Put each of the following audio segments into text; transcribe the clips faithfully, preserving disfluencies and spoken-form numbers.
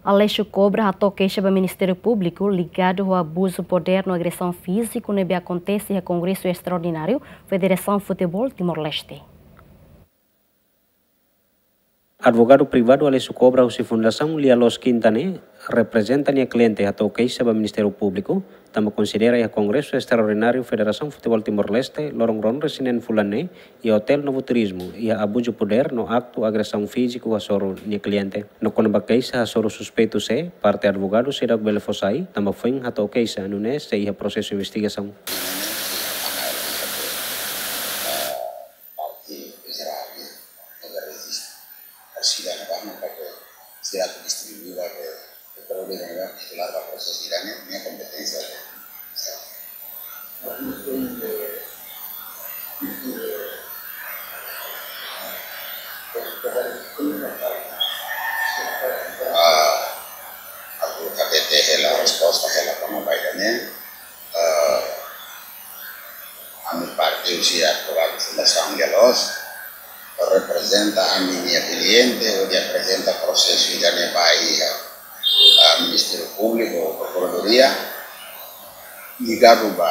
Alessio Cobra hato'o keixa ba Ministériu Públiku ligadu ho abuzu podér no agresaun fíziku ne'ebé akontese iha Kongresu Estraordináriu Federasaun Futeból Timor-Leste. Advogadu privadu Alessio Cobra husi Fundasaun Lia Loos Quinta ne'e reprezenta nia kliente hato'o keixa ba Ministériu Públiku, tanba konsidera iha Kongresu Estraordináriu Federasaun Futeból Timor-Leste loron ruanulu-resin-neen fulan ne'e, iha Hotel Novo Turismo, iha abuzu podér no aktu agresaun fíziku hasoru nia kliente. No kona-ba keixa hasoru suspeitu sé, parte advogadu seidauk bele fó sai, tanba foin hato'o keixa, nune'e sei iha prosesu investigasaun. Parte Israel, ne'e, ne'e rejistu. Sira-ne'ebá mak atu, sira atu distribui ba, ba, ba, ba, ba, titular ba prosesu sira-ne'e, ne'e kompeténsia. Ah, atu hatete hela, resposta hela kona-ba ida-ne'e. Ah, ami parte husi advogadu Fundasaun Lia Loos, reprezenta ami-nia kliente, hodi aprezenta prosesu ida-ne'e ba iha, ah, Ministériu Públiku, Prokuradoria, ligadu ba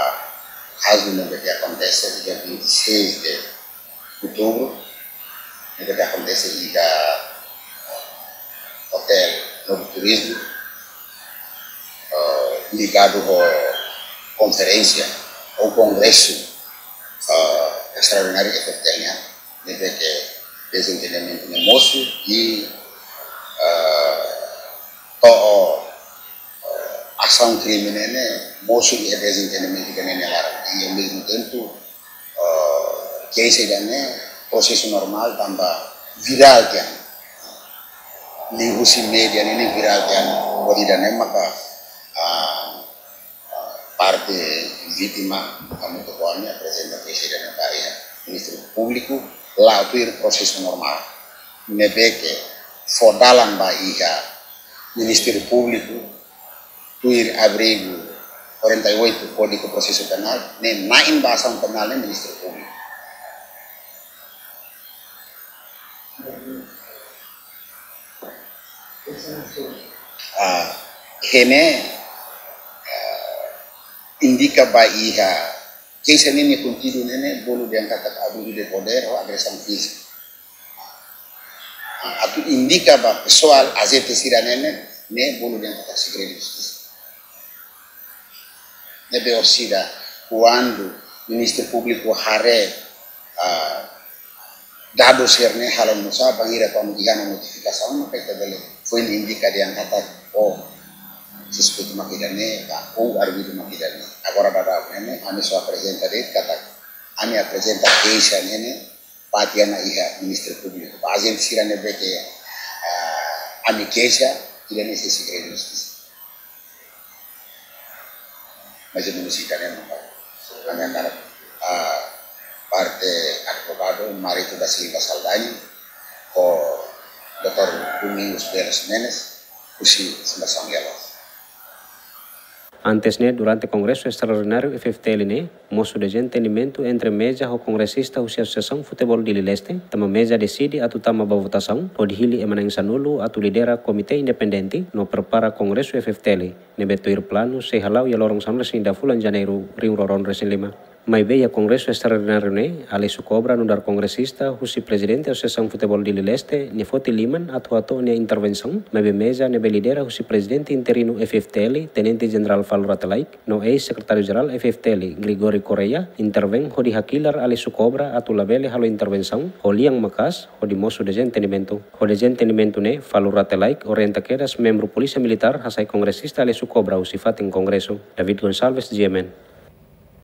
kazu ne'ebé ke akontese iha vinte e seis de outubro, ne'ebé ke akontese iha Hotel Novo Turismo, eh, ligadu ho konferénsia ou kongresu, eh, estraordináriu F F T L nian, ne'ebé ke dezentendimentu ne'e mosu i, eh, to'o, eh, asaun krime ne'e, ne'e mosu iha dezentendimentu ida-ne'e nia laran. I ao mesmo tempo, eh, keixa ida-ne'e prosesu normál tanba virál tiha ona. Liuhusi média ne'e, ne'e virál tiha ona. Hodi ida-ne'e maka, ah, ah, parte vítima, hamutuk ho ami aprezenta keixa ida-ne'e ba iha Ministériu Públiku, la'o tuir prosesu normál. Ne'ebé ke fó dalan ba iha Ministériu Públiku, tuir artigu quarenta e oito Kódigu Prosesu Penál, ne'e na'in ba asaun penál ne'e Ministériu Públiku. Ah, ne'e, ah, indika ba iha keixa ne'e nia konteúdu ne'e, ne'e bolu dehan katak abuzu de podér ou agresaun fíziku. Ah, atu indika ba pesoál, ajente sira-ne'e, ne'e, ne'e bolu dehan katak segredu justisa. Ne'ebé orsida, kuandu Ministériu Públiku haree, ah, dadus sira-ne'e halo nusá, bainhira kuandu iha ona notifikasaun, maka ita bele foin indika dehan katak, oh, suspeitu mak ida-ne'e, ka, ou arguidu mak ida-ne'e. Agora daudaun ne'e, ne'e, ami só aprezenta de'it katak, ami aprezenta keixa ne'e, ne'e, ba tiha ona iha Ministériu Públiku. Ba ajente sira ne'ebé ke, ah, ami keixa, ida-ne'e sei segredu justisa. Mais ou menus ida-ne'e mak ami hakarak, ah, parte advogadu Marito da Silva Saldanha ho doutór Domingos Belo Ximenes, husi Fundasaun Lia Loos. Antes ne'e, durante Kongresu Estraordináriu F F T L ne'e, mosu dezentendimentu entre MEJA ho kongresista husi Asosiasaun Futeból Dili Leste, tanba MEJA deside atu tama ba votasaun, hodi hili ema na'in sanulu atu lidera komité independente no prepara Kongresu F F T L, ne'ebé tuir planu sei hala'o iha loron sanulu-resin-ida fulan Janeiru rihun rua ruanulu-resin-lima. Maibé iha Kongresu Estraordináriu ne'e, Alessio Cobra nu'udar kongresista husi Prezidente Asosiasaun Futeból Dili Leste, nia foti liman atu hato'o nia intervensaun, maibé MEJA ne'ebé lidera husi Prezidente interinu F F T L, Tenente Jenerál Falur Rate Laek, no eis-Sekretáriu Jerál F F T L, Gregório Correia, intervein hodi hakilar Alessio Cobra atu labele halo intervensaun ho lian maka'as, hodi mosu dezentendimentu. Ho dezentendimentu ne'e, Falur Rate Laek orienta kedas membru Polísia Militár hasai kongresista Alessio Cobra husi fatin Kongresu. David Gonçalves, G M N.